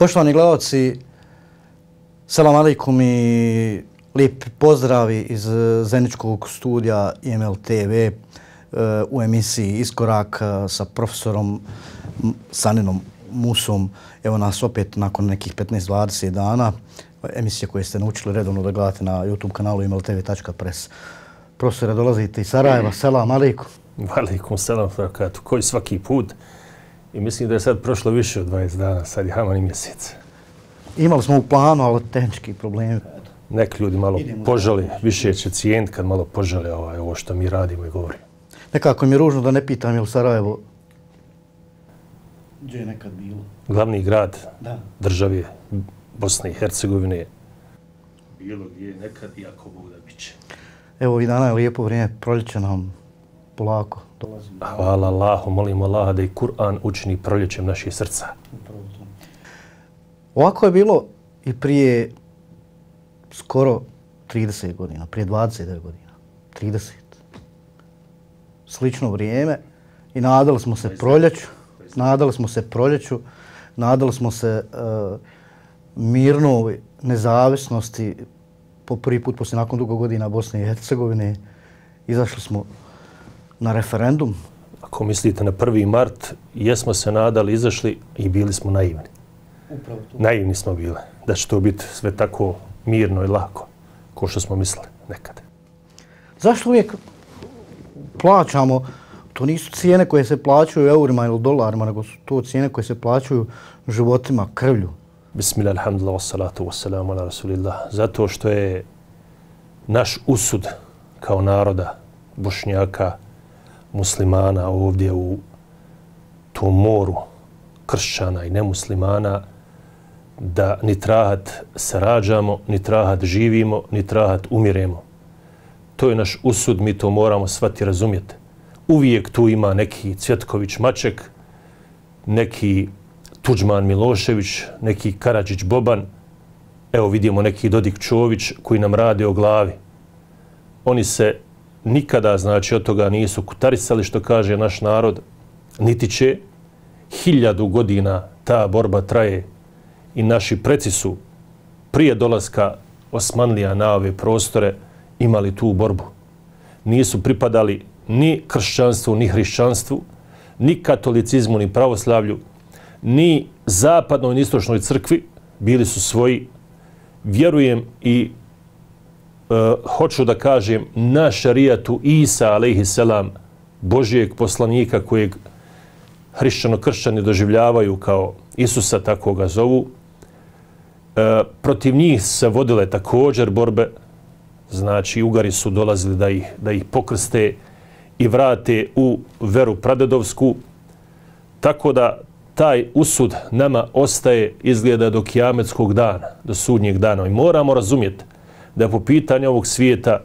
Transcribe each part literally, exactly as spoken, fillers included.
Poštovani gledalci, selam alejkum i lijep pozdravi iz Zeničkog studija I M L T V u emisiji Iskorak sa profesorom Saninom Musom. Evo nas opet nakon nekih petnaest do dvadeset dana, emisije koje ste naučili redovno da gledate na YouTube kanalu i m l t v tačka press. Profesore, dolazite iz Sarajeva, selam alejkum. Alejkum selam, fakat, koji svaki put. I mislim da je sad prošlo više od dvadeset dana, sad je haman i mjesec. Imali smo u planu, ali tehnički problemi. Neki ljudi malo požali, više će cijeniti kad malo požale ovaj, ovo što mi radimo i govorimo. Nekako mi je ružno da ne pitam je li Sarajevo gdje je nekad bilo? Glavni grad da. države Bosne i Hercegovine. Bilo gdje je nekad i ako Bog da bit će. Evo i dana je lijepo vrijeme, proljeće nam polako dolazi. Hvala Allahu, molimo Allaha da i Kur'an učini proljećem naših srca. Ovako je bilo i prije skoro trideset godina, prije dvadeset devet godina, trideset. Slično vrijeme i nadali smo se proljeću, nadali smo se proljeću, nadali smo se uh, mirnoj nezavisnosti po prvi put poslije nakon dugo godina Bosne i Hercegovine. Izašli smo na referendum. Ako mislite na prvi mart, jesmo se nadali, izašli i bili smo naivni. Upravo to. Naivni smo bili da će to biti sve tako mirno i lako, kao što smo mislili nekad. Zašto uvijek plaćamo, to nisu cijene koje se plaćaju eurima ili dolarima, nego su to cijene koje se plaćaju životima, krvlju? Bismillah, alhamdulillah, wassalatu wassalamu ala rasulillah. Zato što je naš usud kao naroda, Bošnjaka, muslimana ovdje u tom moru kršćana i nemuslimana, da ni trahat se rađamo, ni trahat živimo, ni trahat umiremo. To je naš usud, mi to moramo shvatiti, razumjeti. Uvijek tu ima neki Cvjetković Maček, neki Tuđman Milošević, neki Karadžić Boban, evo vidimo neki Dodik Čović koji nam rade o glavi. Oni se nikada, znači, od toga nisu kutarisali, što kaže naš narod, niti će. Hiljadu godina ta borba traje i naši preci su prije dolaska Osmanlija na ove prostore imali tu borbu. Nisu pripadali ni kršćanstvu, ni hrišćanstvu, ni katolicizmu, ni pravoslavlju, ni zapadnoj, ni istočnoj crkvi. Bili su svoji. Vjerujem i e, hoću da kažem na šarijatu Isa, alejhiselam, Božijeg poslanika kojeg hrišćano-kršćani doživljavaju kao Isusa, tako ga zovu. E, protiv njih se vodile također borbe. Znači, Ugari su dolazili da ih, da ih pokrste i vrate u veru pradedovsku. Tako da taj usud nama ostaje, izgleda, do kijametskog dana, do sudnjeg dana. I moramo razumjeti da po pitanju ovog svijeta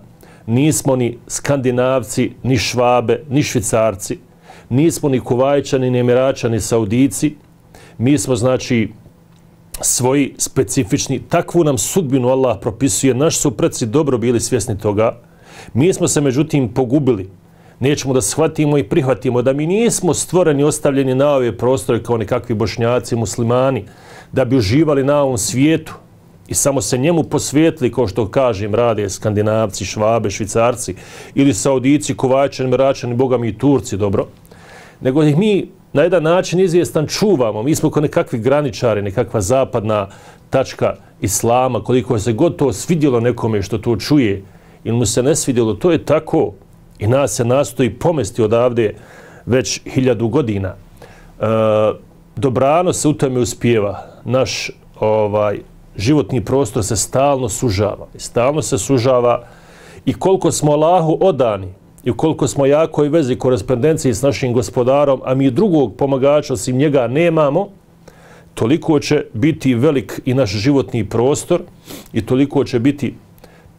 nismo ni Skandinavci, ni Švabe, ni Švicarci, nismo ni Kuvajčani, ni Emiračani, ni Saudici. Mi smo, znači, svoji specifični. Takvu nam sudbinu Allah propisuje. Naši su preci dobro bili svjesni toga. Mi smo se, međutim, pogubili. Nećemo da shvatimo i prihvatimo da mi nismo stvoreni, ostavljeni na ove prostore kao nekakvi Bošnjaci, muslimani, da bi uživali na ovom svijetu i samo se njemu posvijetili, kao što kažem, rade Skandinavci, Švabe, Švicarci ili Saudici, Kuvajčani, Emiračani, Boga mi i Turci, dobro. Nego ih mi na jedan način izvjestan čuvamo. Mi smo kao nekakvi graničari, nekakva zapadna tačka islama, koliko se god to svidjelo nekome što to čuje ili mu se ne svidjelo, to je tako. I nas se nastoji pomesti odavde već hiljadu godina. E, dobrano se u tome uspijeva. Naš ovaj, životni prostor se stalno sužava. Stalno se sužava i koliko smo Allahu odani i koliko smo jakoj vezi korespondenciji s našim gospodarom, a mi drugog pomagača osim njega nemamo, toliko će biti velik i naš životni prostor i toliko će biti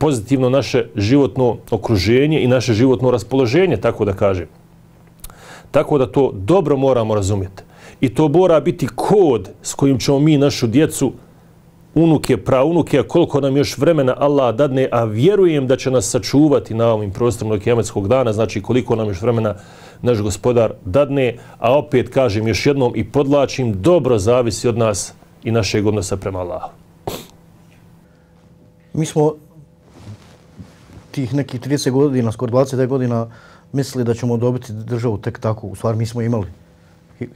pozitivno naše životno okruženje i naše životno raspoloženje, tako da kažem. Tako da to dobro moramo razumjeti. I to mora biti kod s kojim ćemo mi našu djecu, unuke, praunuke, a koliko nam još vremena Allah dadne, a vjerujem da će nas sačuvati na ovim prostorima do kijametskog dana, znači koliko nam još vremena naš gospodar dadne, a opet kažem još jednom i podlačim, dobro zavisi od nas i našeg odnosa prema Allahu. Mi smo tih nekih trideset godina, skoro dvadeset godina, mislili da ćemo dobiti državu tek tako. U stvari mi smo imali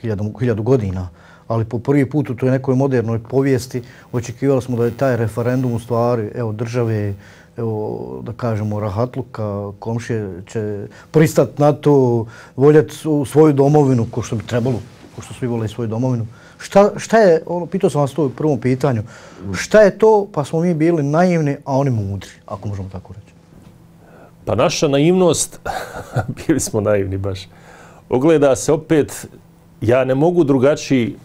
hiljadu, hiljadu godina, ali po prvi put u toj nekoj modernoj povijesti očekivali smo da je taj referendum u stvari, evo, države, evo, da kažemo, rahatluka, komšije će pristati na to, voljeti svoju domovinu, ko što bi trebalo, ko što svi vole svoju domovinu. Šta, šta je, ono, pitao sam vas to u prvom pitanju, šta je to, pa smo mi bili naivni, a oni mudri, ako možemo tako reći? Pa naša naivnost, bili smo naivni baš, ogleda se opet, ja ne mogu drugačiji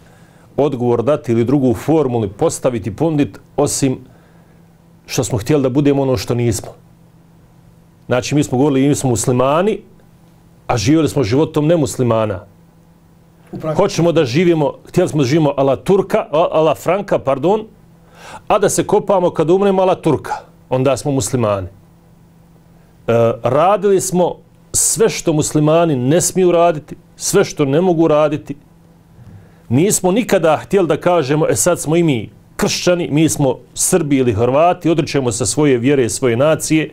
odgovor dati ili drugu formulu postaviti, ponuditi, osim što smo htjeli da budemo ono što nismo. Znači, mi smo govorili, mi smo muslimani, a živjeli smo životom nemuslimana. Hoćemo da živimo, htjeli smo da živimo ala Turka, ala Franka, pardon, a da se kopamo kad umremo ala Turka. Onda smo muslimani. E, radili smo sve što muslimani ne smiju raditi, sve što ne mogu raditi. Nismo nikada htjeli da kažemo, e sad smo i mi kršćani, mi smo Srbi ili Hrvati, odričemo sa svoje vjere i svoje nacije,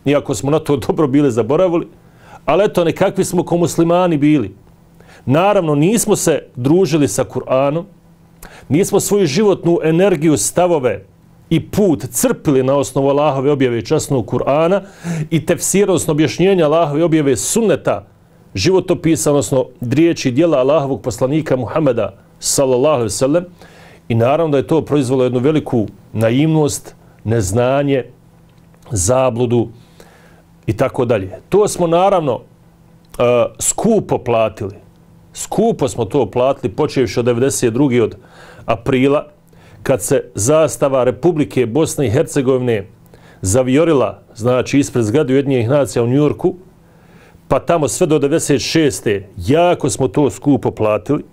iako smo na to dobro bili zaboravili, ali eto, nekakvi smo ko muslimani bili. Naravno, nismo se družili sa Kur'anom, nismo svoju životnu energiju, stavove i put crpili na osnovu Allahove objave časnog Kur'ana i tefsira, odnosno objašnjenja Allahove objave sunneta, životopisa, odnosno riječi djela Allahovog poslanika Muhameda sallallahu alejhi ve sellem, i naravno da je to proizvelo jednu veliku naivnost, neznanje, zabludu i tako dalje. To smo naravno uh, skupo platili. Skupo smo to platili, počevši od devedeset druge od aprila, kad se zastava Republike Bosne i Hercegovine zavijorila, znači ispred zgrade Ujedinjenih nacija u Njujorku, pa tamo sve do devedeset šeste jako smo to skupo platili,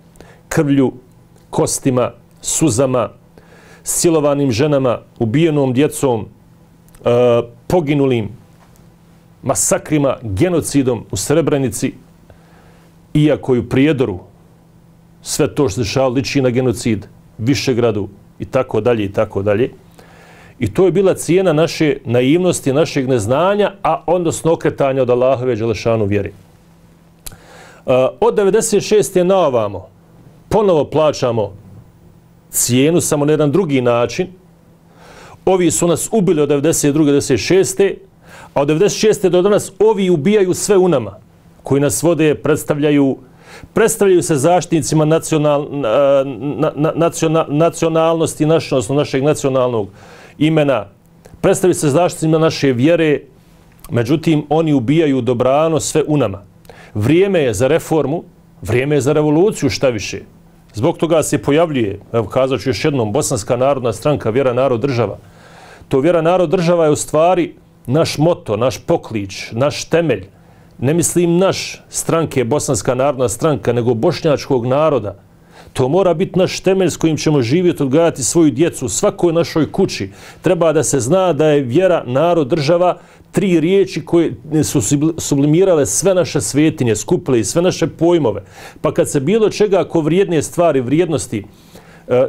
krvlju, kostima, suzama, silovanim ženama, ubijenom djecom, e, poginulim, masakrima, genocidom u Srebrenici, iako i u Prijedoru sve to što se dešavalo liči na genocid, Višegradu i tako dalje i tako dalje. I to je bila cijena naše naivnosti, našeg neznanja, a odnosno okretanja od Allahove dželešanu vjeri. Uh, od devedeset šeste na ovamo ponovo plaćamo cijenu, samo na jedan drugi način. Ovi su nas ubili od devedeset druge do devedeset šeste, a od devedeset šeste do danas ovi ubijaju sve u nama, koji nas vode, predstavljaju, predstavljaju se zaštitnicima nacional, na, na, nacional, nacionalnosti naše, odnosno našeg nacionalnog imena, predstavljaju se zaštitnicima naše vjere, međutim, oni ubijaju dobrano sve u nama. Vrijeme je za reformu, vrijeme je za revoluciju, šta više. Zbog toga se pojavljuje, evo kazat ću još jednom, Bosanska narodna stranka, Vjera, narod, država. To Vjera, narod, država je u stvari naš moto, naš poklič, naš temelj. Ne mislim naš stranke, Bosanska narodna stranka, nego bošnjačkog naroda. To mora biti naš temelj s kojim ćemo živjeti, odgajati svoju djecu u svakoj našoj kući. Treba da se zna da je vjera, narod, država tri riječi koje su sublimirale sve naše svetinje, skupile i sve naše pojmove. Pa kad se bilo čega ako vrijedne stvari, vrijednosti,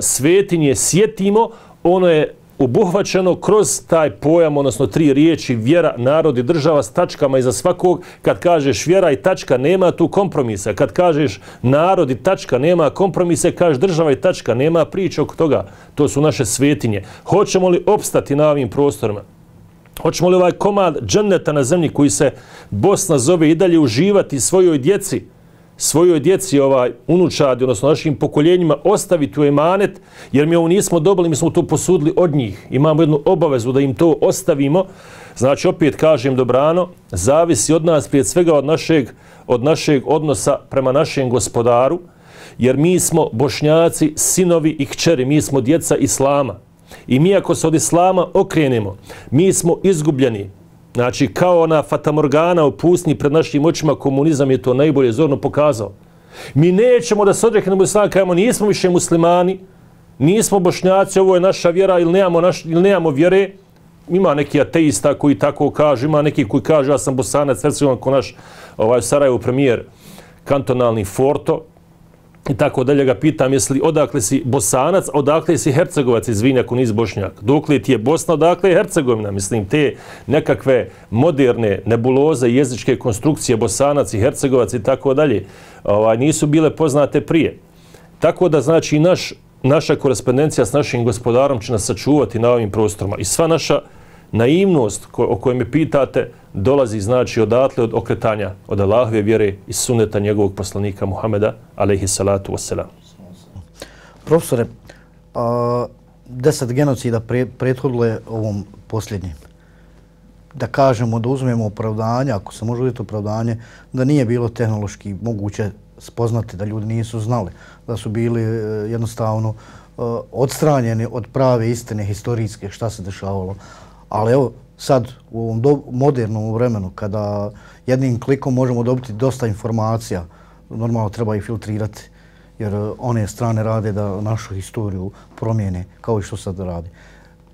svetinje sjetimo, ono je obuhvaćeno kroz taj pojam, odnosno tri riječi vjera, narod i država s tačkama iza svakog. Kad kažeš vjera i tačka, nema tu kompromisa. Kad kažeš narod i tačka, nema kompromise. Kažeš država i tačka, nema priče oko toga. To su naše svetinje. Hoćemo li opstati na ovim prostorima? Hoćemo li ovaj komad dženneta na zemlji koji se Bosna zove i dalje uživati svojoj djeci, svojoj djeci, ovaj, unučadi, odnosno našim pokoljenjima, ostaviti u emanet, jer mi ovo nismo dobili, mi smo to posudili od njih. Imamo jednu obavezu da im to ostavimo. Znači, opet kažem dobrano, zavisi od nas, prije svega od našeg, od našeg odnosa prema našem gospodaru, jer mi smo Bošnjaci, sinovi i kćeri, mi smo djeca Islama. I mi ako se od Islama okrenemo, mi smo izgubljeni. Znači, kao ona fatamorgana u pustinji pred našim očima, komunizam je to najbolje zorno pokazao. Mi nećemo da se odreknemo Islama, kajemo, nismo više muslimani, nismo Bošnjaci, ovo je naša vjera ili nemamo, naš, ili nemamo vjere. Ima neki ateista koji tako kažu, ima neki koji kažu ja sam Bosanac, Hercegovan, ko naš ovaj, Sarajevo premijer kantonalni Forto, i tako dalje, ga pitam jesi odakle si Bosanac, odakle si Hercegovac, izvini ako nisi Bošnjak. Dokle ti je Bosna, odakle je Hercegovina. Mislim, te nekakve moderne nebuloze, jezičke konstrukcije Bosanac i Hercegovac i tako dalje ovaj, nisu bile poznate prije. Tako da znači naš, naša korespondencija s našim gospodarom će nas sačuvati na ovim prostorima. I sva naša naivnost ko, o kojoj me pitate dolazi znači odatle od okretanja od Allahove vjere i suneta njegovog poslanika Muhameda alejhi salatu vesselam. Profesore, a, deset genocida pre, prethodilo je ovom posljednjem. Da kažemo, da uzmemo opravdanje, ako se može uzeti opravdanje, da nije bilo tehnološki moguće spoznati, da ljudi nisu znali, da su bili jednostavno odstranjeni od prave istine historijske šta se dešavalo. Ali evo, sad u ovom do, modernom vremenu, kada jednim klikom možemo dobiti dosta informacija, normalno treba ih filtrirati, jer one strane rade da našu historiju promijene, kao i što sad radi.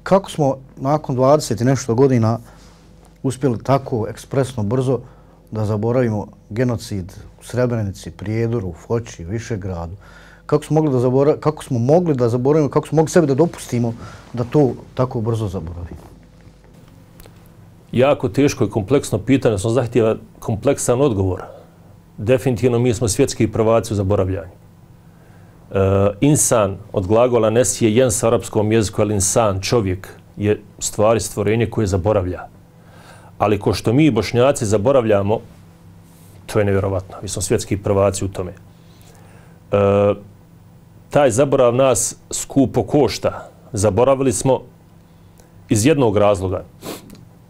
Kako smo nakon dvadeset i nešto godina uspjeli tako ekspresno brzo da zaboravimo genocid u Srebrenici, Prijedoru, Foči, Višegradu? Kako smo mogli da zaboravimo, kako smo mogli da zaboravimo, kako smo mogli sebi da dopustimo da to tako brzo zaboravimo? Jako teško i kompleksno pitanje, sam zahtjeva kompleksan odgovor. Definitivno mi smo svjetski prvaci u zaboravljanju. E, insan od glagola nesije jen sa arapskom jeziku, ali insan, čovjek, je stvari stvorenje koje zaboravlja. Ali ko što mi Bošnjaci zaboravljamo, to je nevjerovatno. Mi smo svjetski prvaci u tome. E, taj zaborav nas skupo košta. Zaboravili smo iz jednog razloga.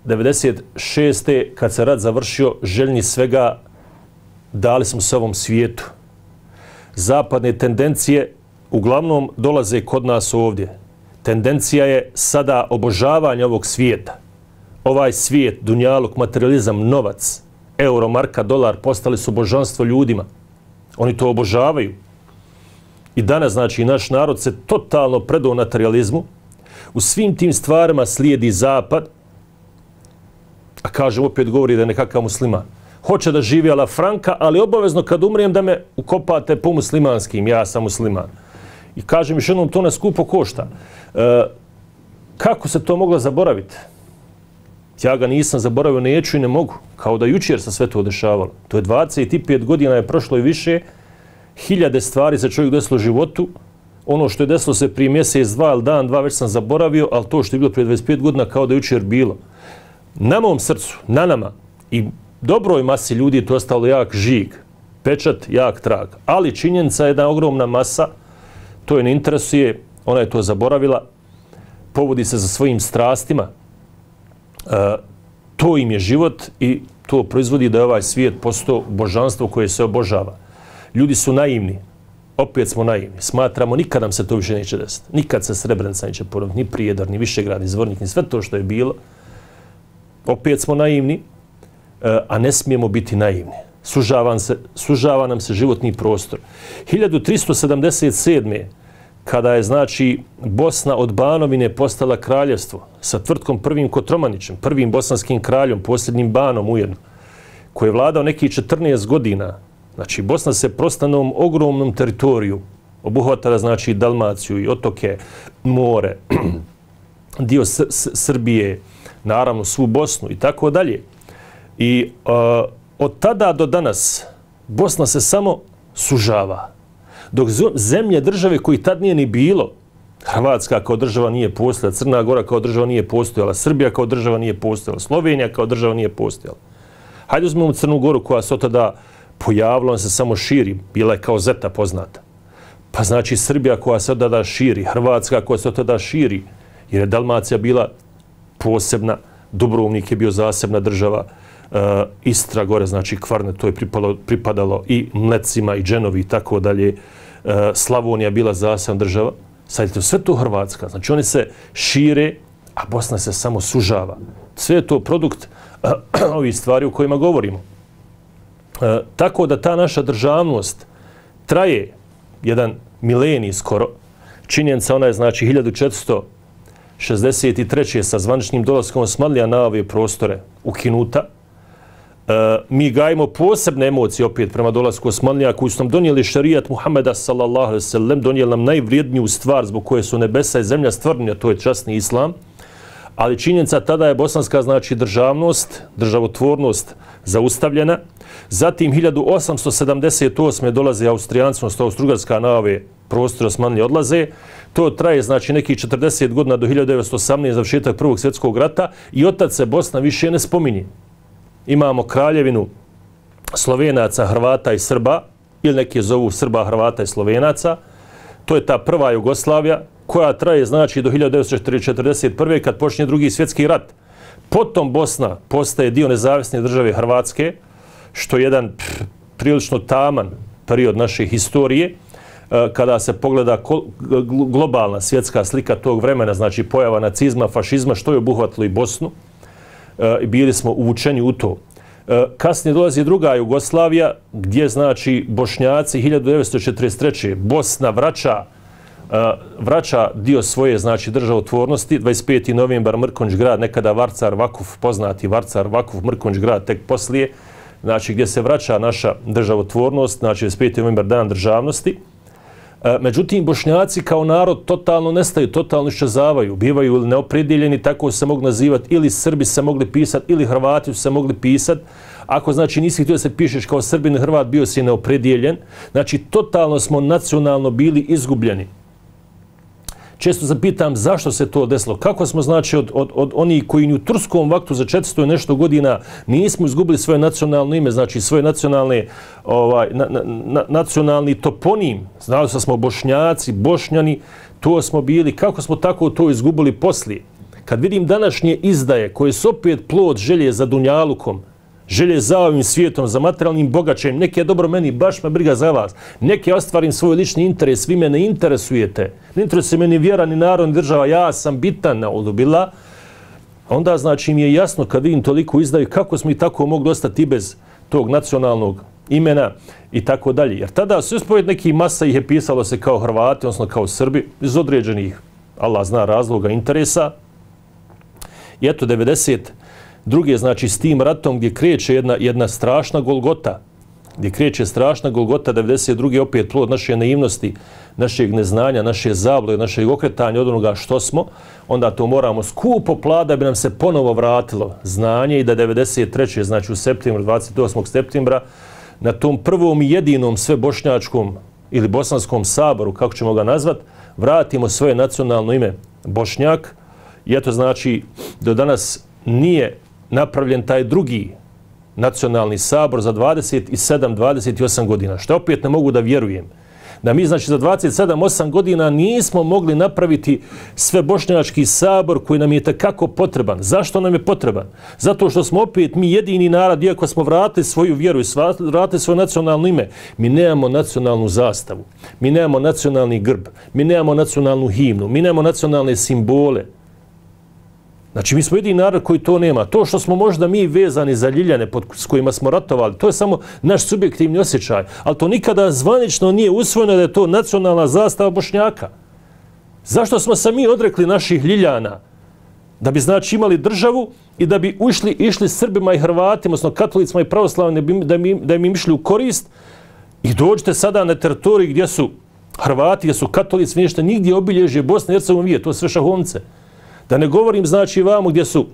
devedeset šeste kad se rat završio, željni svega dali smo se ovom svijetu. Zapadne tendencije uglavnom dolaze kod nas ovdje. Tendencija je sada obožavanje ovog svijeta. Ovaj svijet, dunjaluk, materializam, novac, euro, marka, dolar postali su božanstvo ljudima. Oni to obožavaju. I danas, znači, naš narod se totalno predao materializmu. U svim tim stvarima slijedi zapad, a kažem, opet govori da je nekakav musliman. Hoće da živi ala Franka, ali obavezno kad umrijem da me ukopate po muslimanskim, ja sam musliman. I kažem još jednom, to nas skupo košta. E, kako se to moglo zaboraviti? Ja ga nisam zaboravio, neću i ne mogu. Kao da jučer se sve to dešavalo. To je dvadeset pet godina je prošlo i više. Hiljade stvari se čovjek desilo u životu. Ono što je desilo se prije mjesec, dva ili dan, dva već sam zaboravio, ali to što je bilo prije dvadeset pet godina kao da je jučer bilo. Na mom srcu, na nama i dobroj masi ljudi je to ostalo jak žig, pečat, jak trag. Ali činjenica je jedna ogromna masa, to je ne interesuje, ona je to zaboravila, povodi se za svojim strastima, e, to im je život i to proizvodi da je ovaj svijet postao božanstvo koje se obožava. Ljudi su naivni, opet smo naivni, smatramo nikad nam se to više neće desiti, nikad se Srebrenica neće ponoviti, ni Prijedor, ni Višegrad, ni Zvornik, ni sve to što je bilo. Opet smo naivni, a ne smijemo biti naivni. Sužava, se, sužava nam se životni prostor. hiljadu tristo sedamdeset sedme kada je znači Bosna od Banovine postala kraljevstvo sa tvrtkom prvim Kotromanićem, prvim bosanskim kraljom, posljednjim banom ujedno, koji je vladao nekih četrnaest godina. Znači Bosna se prostanom ogromnom teritoriju obuhvatala znači Dalmaciju i otoke, more, dio S S Srbije, naravno svu Bosnu i tako dalje. I uh, od tada do danas Bosna se samo sužava. Dok zemlje, države koji tad nije ni bilo, Hrvatska kao država nije postojala, Crna Gora kao država nije postojala, Srbija kao država nije postojala, Slovenija kao država nije postojala. Hajde uzmemo Crnu Goru koja se od tada pojavila, ona se samo širi, bila je kao zeta poznata. Pa znači Srbija koja se od tada širi, Hrvatska koja se od tada širi, jer je Dalmacija bila posebna, Dubrovnik je bio zasebna država, uh, Istra gore, znači Kvarne, to je pripalo, pripadalo i Mlecima i Dženovi i tako dalje, uh, Slavonija bila zasebna država, sad je to sve to Hrvatska, znači oni se šire, a Bosna se samo sužava. Sve je to produkt uh, ovih stvari o kojima govorimo. Uh, tako da ta naša državnost traje jedan milenij skoro, činjenica ona je znači hiljadu četiristo šezdeset treće sa zvaničnim dolaskom Osmanlija na ove prostore ukinuta. mi gajimo posebne emocije opet prema dolasku Osmanlija koji su nam donijeli šarijat Muhameda sallallahu alejhi ve sellem, donijeli nam najvrijedniju stvar zbog koje su nebesa i zemlja stvoreni, a to je časni islam. Ali činjenica tada je bosanska znači državnost, državotvornost zaustavljena. Zatim hiljadu osamsto sedamdeset osme dolaze Austrijanci, odnosno Austrougarska na ove prostore Osmanlije odlaze. To traje znači nekih četrdeset godina do hiljadu devetsto osamnaeste završetak Prvog svjetskog rata i od tad se Bosna više ne spominje. Imamo kraljevinu Slovenaca, Hrvata i Srba, ili neki zovu Srba, Hrvata i Slovenaca. To je ta prva Jugoslavija koja traje znači do hiljadu devetsto četrdeset prve kad počinje Drugi svjetski rat. Potom Bosna postaje dio nezavisne države Hrvatske, što je jedan pff, prilično taman period naše historije. Kada se pogleda globalna svjetska slika tog vremena, znači pojava nacizma, fašizma, što je obuhvatilo i Bosnu, i bili smo uvučeni u to. Kasnije dolazi druga Jugoslavija, gdje znači Bošnjaci hiljadu devetsto četrdeset treće Bosna vraća vraća dio svoje znači državotvornosti. dvadeset peti novembar Mrkonjić grad, nekada Varcar Vakuf, poznati Varcar Vakuf, Mrkonjić grad tek poslije, znači gdje se vraća naša državotvornost, znači dvadeset peti novembar dan državnosti. Međutim, Bošnjaci kao narod totalno nestaju, totalno iščezavaju, bivaju neopredjeljeni, tako se mogu nazivati, ili Srbi se mogli pisati, ili Hrvati su se mogli pisati. Ako znači nisi htio da se pišeš kao Srbin, Hrvat, bio si neopredjeljen. Znači, totalno smo nacionalno bili izgubljeni. Često se pitam zašto se to desilo. Kako smo znači od, od, od onih koji u turskom vaktu za četiristo i nešto godina nismo izgubili svoje nacionalno ime, znači svoje nacionalne, ovaj, na, na, na, nacionalni toponim. Znali smo Bošnjaci, Bošnjani, to smo bili. Kako smo tako to izgubili poslije? Kad vidim današnje izdaje koje su opet plod želje za dunjalukom, želje za ovim svijetom, za materijalnim bogaćem, neke je dobro meni, baš me briga za vas, neke ostvarim svoj lični interes, vi me ne interesujete, ne interesuje meni vjera, ni narod, ni država, ja sam bitan na odubila, onda znači mi je jasno kad vidim toliko izdaju kako smo i tako mogli ostati bez tog nacionalnog imena i tako dalje. Jer tada su ispoved neki masa ih je pisalo se kao Hrvati, odnosno kao Srbi, iz određenih, Allah zna razloga, interesa. I eto, devedeset druge, znači, s tim ratom gdje kreće jedna, jedna strašna golgota, gdje kreće strašna golgota, devedeset druge opet plod naše naivnosti, našeg neznanja, naše zablude, našeg okretanja od onoga što smo, onda to moramo skupo plati da bi nam se ponovo vratilo znanje i da devedeset treće znači u septembru, dvadeset osmog septembra, na tom prvom i jedinom svebošnjačkom ili bosanskom saboru, kako ćemo ga nazvat, vratimo svoje nacionalno ime Bošnjak. I eto znači, do danas nije napravljen taj drugi nacionalni sabor za dvadeset sedam dvadeset osam godina, što opet ne mogu da vjerujem. Da mi znači za dvadeset sedam osam godina nismo mogli napraviti sve bošnjački sabor koji nam je takako potreban. Zašto nam je potreban? Zato što smo opet mi jedini narod, iako smo vratili svoju vjeru i vratili svoje nacionalno ime, mi nemamo nacionalnu zastavu, mi nemamo nacionalni grb, mi nemamo nacionalnu himnu, mi nemamo nacionalne simbole. Znači, mi smo jedini narod koji to nema. To što smo možda mi vezani za Ljiljane pod, s kojima smo ratovali, to je samo naš subjektivni osjećaj. Ali to nikada zvanično nije usvojeno da je to nacionalna zastava Bošnjaka. Zašto smo se mi odrekli naših Ljiljana? Da bi znači imali državu i da bi ušli, išli Srbima i Hrvatima, odnosno katolicima i pravoslavnim, da, bi, da im išli u korist. I dođete sada na teritoriji gdje su Hrvati, gdje su katolici, ništa, nigdje obilježje Bosne i Hercegovine, to je sve šahovnice. Da ne govorim, znači, vamo gdje su,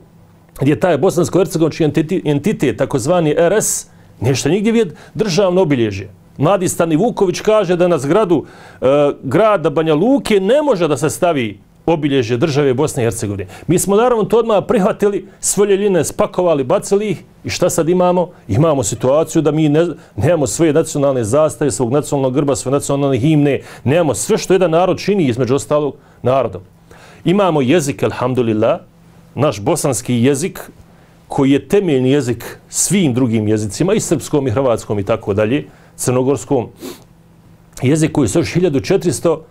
gdje taj bosansko-hercegovački entitet, takozvani R S, nešto nigdje vidi državno obilježje. Mladi Stani Vuković kaže da na zgradu e, grada Banja Luke ne može da se stavi obilježje države Bosne i Hercegovine. Mi smo naravno to odmah prihvatili, svoje Ljiljane spakovali, bacili ih i šta sad imamo? Imamo situaciju da mi ne, nemamo svoje nacionalne zastave, svog nacionalnog grba, svoje nacionalne himne, nemamo sve što jedan narod čini između ostalog narodom. Imamo jezik, alhamdulillah, naš bosanski jezik, koji je temeljni jezik svim drugim jezicima, i srpskom, i hrvatskom, i tako dalje, crnogorskom. Jezik koji se još hiljadu četiristo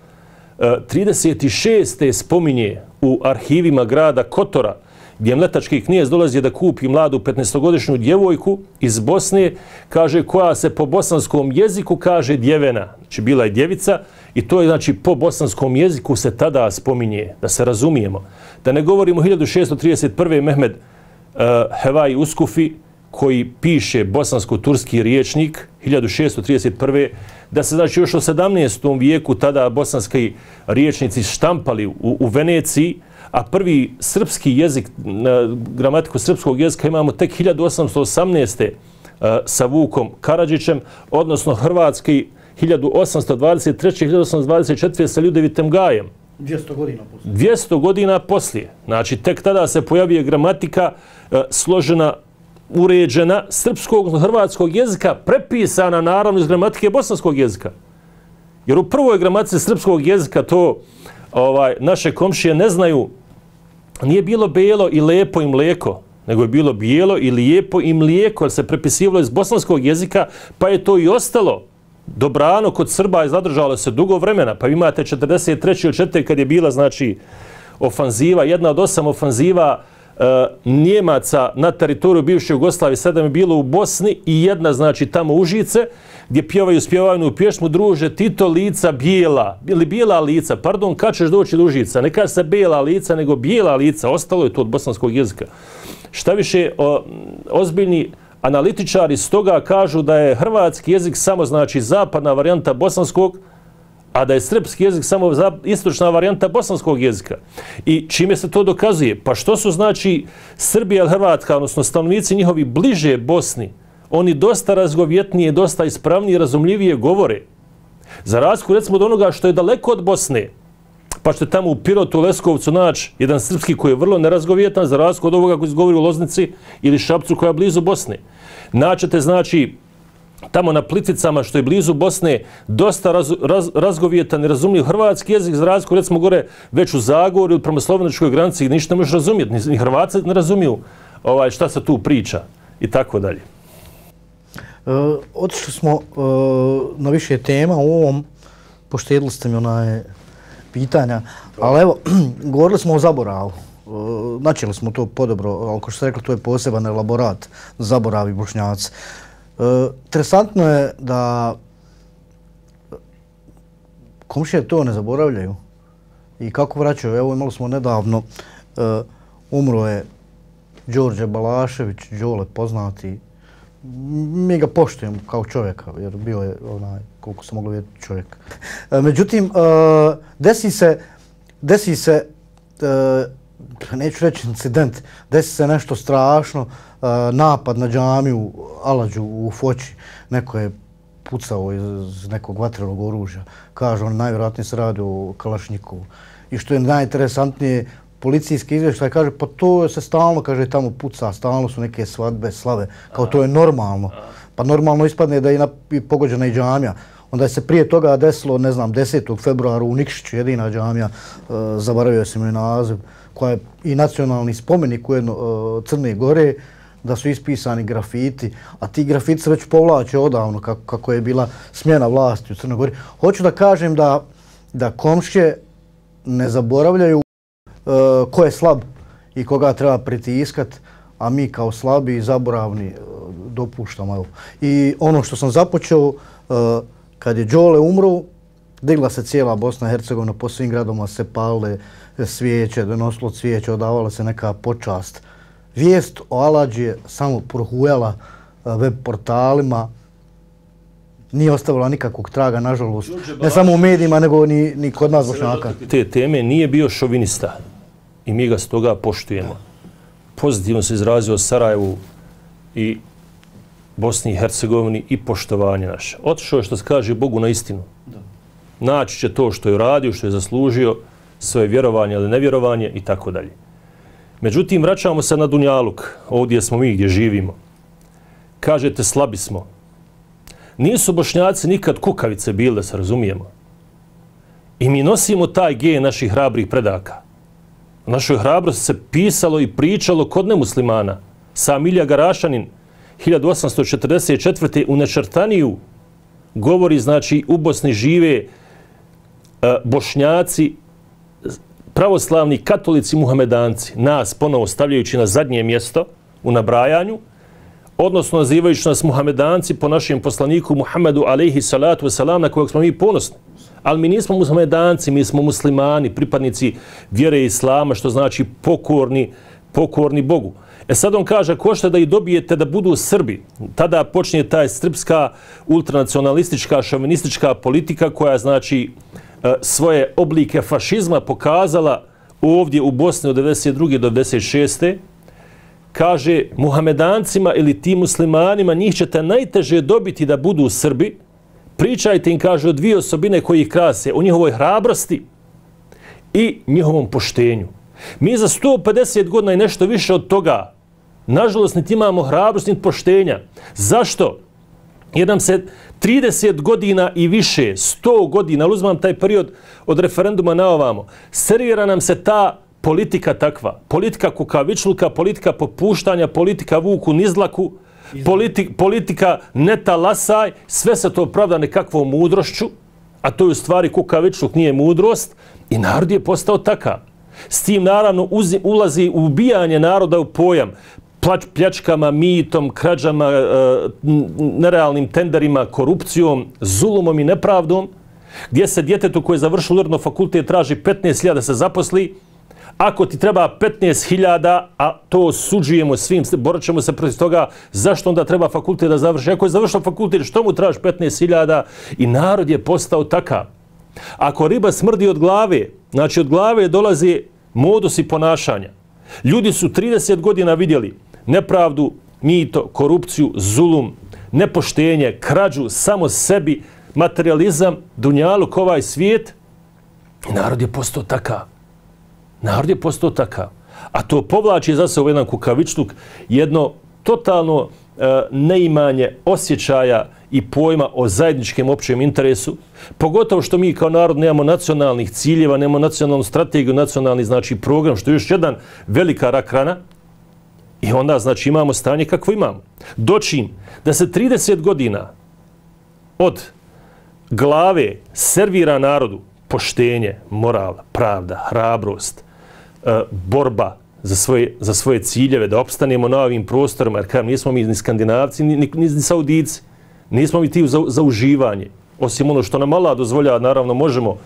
trideset šeste spominje u arhivima grada Kotora, gdje mletački knjez dolazi da kupi mladu petnaestogodišnju djevojku iz Bosne, kaže, koja se po bosanskom jeziku kaže djevena. Znači, bila je djevica i to je, znači, po bosanskom jeziku se tada spominje, da se razumijemo. Da ne govorimo hiljadu šesto trideset prve. Mehmed uh, Hevaj Uskufi, koji piše bosansko-turski riječnik hiljadu šesto trideset prve da se znači još u sedamnaestom vijeku tada bosanski riječnici štampali u, u Veneciji, a prvi srpski jezik, gramatiku srpskog jezika imamo tek hiljadu osamsto osamnaeste. sa Vukom Karadžićem, odnosno hrvatski hiljadu osamsto dvadeset treće. hiljadu osamsto dvadeset četvrte. sa Ljudevitem Gajem. dvjesto godina poslije. dvjesto godina poslije. Znači, tek tada se pojavije gramatika e, složena, uređena srpskog, hrvatskog jezika, prepisana naravno iz gramatike bosanskog jezika. Jer u prvoj gramatici srpskog jezika to ovaj, naše komšije ne znaju, nije bilo bijelo i lepo i mlijeko, nego je bilo bijelo i lijepo i mlijeko, jer se prepisivalo iz bosanskog jezika, pa je to i ostalo dobrano kod Srba i zadržalo se dugo vremena. Pa imate četrdeset treće ili četvrte kad je bila, znači, ofanziva, jedna od osam ofanziva e, Njemaca na teritoriju bivše Jugoslavije, sedam je bilo u Bosni i jedna, znači, tamo Užice, gdje pjevaju spjevajnu pjesmu druže Tito lica bijela, ili bijela lica, pardon, kad ćeš doći do Užica, ne kaže se bijela lica, nego bijela lica, ostalo je to od bosanskog jezika. Šta više, o, ozbiljni analitičari stoga kažu da je hrvatski jezik samo, znači, zapadna varijanta bosanskog, a da je srpski jezik samo istočna varijanta bosanskog jezika. I čime se to dokazuje? Pa što su, znači, Srbija i Hrvatska, odnosno stanovnici njihovi bliže Bosni, oni dosta razgovjetnije, dosta ispravnije, razumljivije govore. Za razliku, recimo, od onoga što je daleko od Bosne, pa što je tamo u Pirotu, Leskovcu naći jedan srpski koji je vrlo nerazgovjetan, za razliku od ovoga koji se govori u Loznici ili Šapcu koja je blizu Bosne. Naćete, znači, tamo na Plitvicama, što je blizu Bosne, dosta raz, raz, razgovjetan i razumljiv hrvatski jezik, za razliku, recimo, gore već u Zagorju ili prema slovenačkoj granici, ništa ne možeš razumjeti, ni, ni Hrvatci ne razumiju ovaj, šta se tu priča i tako dalje. E, otišli smo e, na više tema u ovom, poštedili ste mi onaj pitanja, ali evo, govorili smo o zaboravu. E, načeli smo to podobro, ali kao što ste rekli, to je poseban elaborat zaboravi Bošnjaci. E, interesantno je da komšije to ne zaboravljaju i kako vraćaju. Evo, imali smo nedavno, e, umro je Đorđe Balašević, Đole poznati. Mi ga poštujemo kao čovjeka, jer bio je, onaj, koliko se moglo vidjeti, čovjek. E, međutim, e, desi se, desi se, e, neću reći incident, desi se nešto strašno, e, napad na džamiju Aladžu u Foči. Neko je pucao iz nekog vatrenog oružja. Kažu, on najvjerojatnije se radi o Kalašnjikovu. I što je najinteresantnije, policijski izvještaj kaže, pa to se stalno, kaže, tamo puca, stalno su neke svadbe, slave, kao to je normalno. Pa normalno ispadne da je i pogođena i džamija. Onda je se prije toga desilo, ne znam, desetog februara u Nikšiću, jedina džamija, e, zaboravio sam joj naziv, koja je i nacionalni spomenik ujedno e, Crne Gore, da su ispisani grafiti, a ti grafiti se već povlače odavno, kako, kako je bila smjena vlasti u Crnoj Gori. Hoću da kažem da, da komšije ne zaboravljaju Uh, ko je slab i koga treba pritiskat, a mi kao slabi i zaboravni uh, dopuštamo. Evo. I ono što sam započeo, uh, kad je Đole umro, digla se cijela Bosna i Hercegovina, po svim gradoma se palile svijeće, donosilo cvijeće, odavala se neka počast. Vijest o Aladži je samo prohujala uh, web portalima, nije ostavila nikakvog traga, nažalost, ne samo u medijima, nego ni, ni kod nas Bošnjaka. Te teme nije bio šovinista i mi ga s toga poštujemo. Pozitivno se izrazio o Sarajevu i Bosni i Hercegovini i poštovanje naše. Otišao je, što se kaže, Bogu na istinu. Naći će to što je uradio, što je zaslužio, svoje vjerovanje ili nevjerovanje i tako dalje. Međutim, vraćamo se na Dunjaluk, ovdje smo mi gdje živimo. Kažete, slabi smo. Nisu Bošnjaci nikad kukavice bili, da se razumijemo. I mi nosimo taj gen naših hrabrih predaka. O našoj hrabrosti se pisalo i pričalo kod nemuslimana. Sam Ilija Garašanin, hiljadu osamsto četrdeset četvrte u Nečrtaniju govori, znači, u Bosni žive e, Bošnjaci, pravoslavni katolici, muhamedanci. Nas ponovo stavljajući na zadnje mjesto u nabrajanju, odnosno nazivajući nas muhamedanci po našem poslaniku Muhammedu alejhi salatu wasalam, na kojeg smo mi ponosni. Ali mi nismo muhamedanci, mi smo muslimani, pripadnici vjere islama, što znači pokorni pokorni Bogu. E sad on kaže, ko što da i dobijete da budu Srbi, tada počinje taj srpska ultranacionalistička, šovinistička politika koja znači svoje oblike fašizma pokazala ovdje u Bosni od devedeset druge do devedeset šeste Kaže, Muhamedancima ili tim muslimanima njih ćete najteže dobiti da budu Srbi. Pričajte im, kaže, o dvije osobine koji ih krase, o njihovoj hrabrosti i njihovom poštenju. Mi za sto pedeset godina i nešto više od toga, nažalost, niti imamo hrabrost, niti poštenja. Zašto? Jer nam se trideset godina i više, sto godina, ali uzmam taj period od referenduma na ovamo, servira nam se ta politika takva. Politika kukavičluka, politika popuštanja, politika vuku nizlaku, politi, politika neta lasaj, sve se to pravda nekakvom mudrošću, a to je u stvari kukavičluk, nije mudrost, i narod je postao takav. S tim naravno uzi, ulazi ubijanje naroda u pojam, plač, pljačkama, mitom, krađama, e, nerealnim tenderima, korupcijom, zulumom i nepravdom, gdje se djetetu koje je završilo uredno fakultet traži petnaest hiljada da se zaposli. Ako ti treba petnaest hiljada, a to suđujemo svim, borat ćemo se protiv toga, zašto onda treba fakultet da završi? Ako je završio fakultet, što mu traži petnaest hiljada? I narod je postao takav. Ako riba smrdi od glave, znači od glave dolazi modus i ponašanja. Ljudi su trideset godina vidjeli nepravdu, mito, korupciju, zulum, nepoštenje, krađu, samo sebi, materializam, dunjaluk, ovaj svijet. I narod je postao takav. Narod je postao takav. A to povlači za se u jedan kukavičluk, jedno totalno e, neimanje osjećaja i pojma o zajedničkom općem interesu. Pogotovo što mi kao narod nemamo nacionalnih ciljeva, nemamo nacionalnu strategiju, nacionalni znači program, što je još jedan velika rak rana. I onda znači imamo stanje kakvo imamo. Dočim da se trideset godina od glave servira narodu poštenje, moral, pravda, hrabrost, e, borba za svoje, za svoje ciljeve, da opstanemo na ovim prostorima, jer kao nismo mi ni Skandinavci, ni, ni, ni Saudici, nismo mi ti za, za uživanje. Osim ono što nam Allah dozvoljava, naravno možemo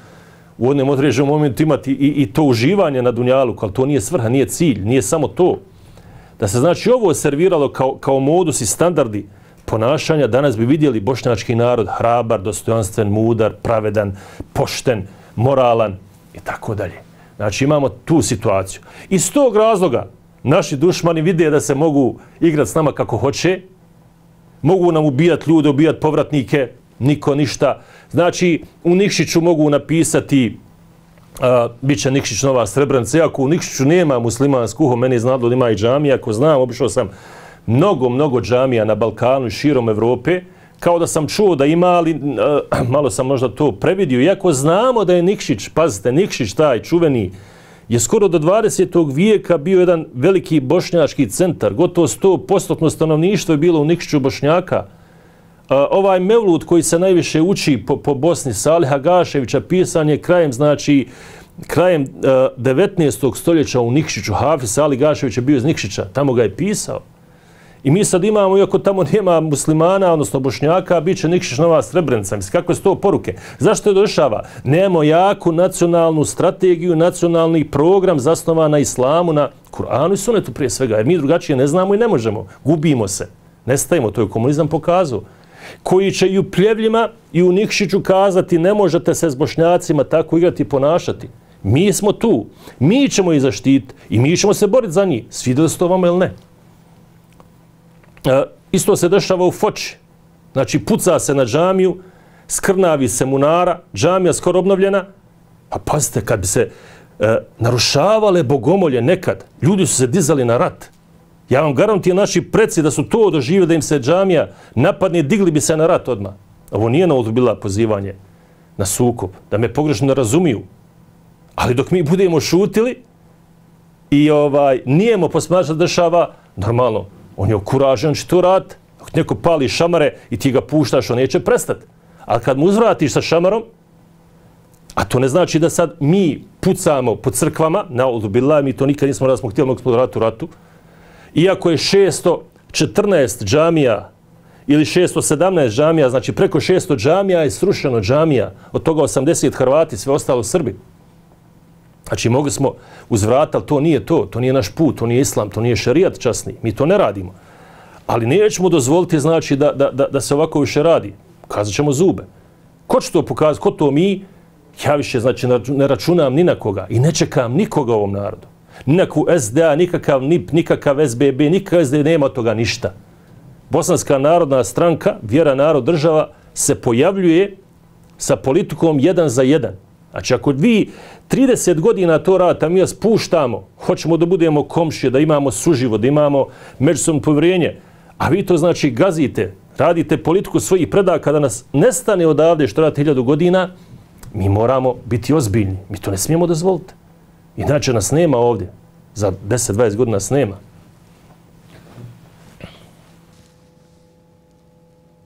u jednom određenom momentu imati i, i to uživanje na dunjaluku, ali to nije svrha, nije cilj, nije samo to. Da se znači ovo serviralo kao, kao modus i standardi ponašanja, danas bi vidjeli bošnjački narod hrabar, dostojanstven, mudar, pravedan, pošten, moralan i tako dalje. Znači imamo tu situaciju. Iz tog razloga naši dušmani vide da se mogu igrati s nama kako hoće, mogu nam ubijati ljude, ubijati povratnike, niko ništa. Znači u Nikšiću mogu napisati Uh, bit će Nikšić Nova Srebrenica. Iako u Nikšiću nema muslimansku, meni je znadlo da ima i džamija. Ako znam, obišao sam mnogo, mnogo džamija na Balkanu i širom Evrope. Kao da sam čuo da ima, ali uh, malo sam možda to previdio. Iako znamo da je Nikšić, pazite, Nikšić taj čuveni, je skoro do dvadesetog vijeka bio jedan veliki bošnjački centar. Gotovo sto posto stanovništvo je bilo u Nikšiću Bošnjaka. Uh, ovaj mevlud koji se najviše uči po, po Bosni, Saliha Gaševića, pisan je krajem, znači, krajem uh, devetnaestog stoljeća u Nikšiću. Hafiz Salih Gašević je bio iz Nikšića, tamo ga je pisao. I mi sad imamo, iako tamo nema muslimana, odnosno Bošnjaka, bit će Nikšić Nova Srebrenica. Mislim, kakve su to poruke? Zašto je došava? Nemamo jaku nacionalnu strategiju, nacionalni program zasnovan na islamu, na Kur'anu i sunetu prije svega, jer mi drugačije ne znamo i ne možemo. Gubimo se. Nestajemo, to je komunizam pokazao. Koji će i u Pljevljima i u Nikšiću kazati ne možete se s Bošnjacima tako igrati i ponašati. Mi smo tu, mi ćemo ih zaštiti i mi ćemo se boriti za njih, svidjeli se to vama ili ne. E, isto se dešava u Foči. Znači puca se na džamiju, skrnavi se munara, džamija skoro obnovljena, a pazite, kad bi se e, narušavale bogomolje nekad, ljudi su se dizali na rat. Ja vam garantujem naši preci da su to doživjeli da im se džamija napadne, digli bi se na rat odmah. Ovo nije na bila pozivanje na sukob, da me pogrešno ne razumiju. Ali dok mi budemo šutili i ovaj, nijemo posmatrati da dešava, normalno, on je okuražen, on će to raditi. Ako neko pali šamare i ti ga puštaš, on neće prestati. Ali kad mu uzvratiš sa šamarom, a to ne znači da sad mi pucamo po crkvama, na odubila, mi to nikad nismo da smo htjeli mnogo ratu ratu, iako je šesto četrnaest džamija ili šesto sedamnaest džamija, znači preko šesto džamija je srušeno džamija, od toga osamdeset Hrvati, sve ostalo Srbi. Znači, mogli smo uzvratiti, ali to nije to, to nije naš put, to nije islam, to nije šerijat časni, mi to ne radimo. Ali nećemo dozvoliti, znači, da, da, da, da se ovako više radi. Kazat ćemo zube. Ko će to pokazati, ko to mi? Ja više, znači, ne računam ni na koga i ne čekam nikoga u ovom narodu. Nikakvu S D A, nikakav N I P, nikakav S B B, nikakav S D A, nema toga ništa. Bosanska narodna stranka, vjera, narod, država, se pojavljuje sa politikom jedan za jedan. Znači, ako vi trideset godina to radite, a mi vas puštamo, hoćemo da budemo komšije, da imamo suživo, da imamo međusobno povjerenje, a vi to, znači, gazite, radite politiku svojih predaka da nas nestane odavde što radite hiljadu godina, mi moramo biti ozbiljni. Mi to ne smijemo dozvoliti. Inače nas nema ovdje. Za deset dvadeset godina nas nema.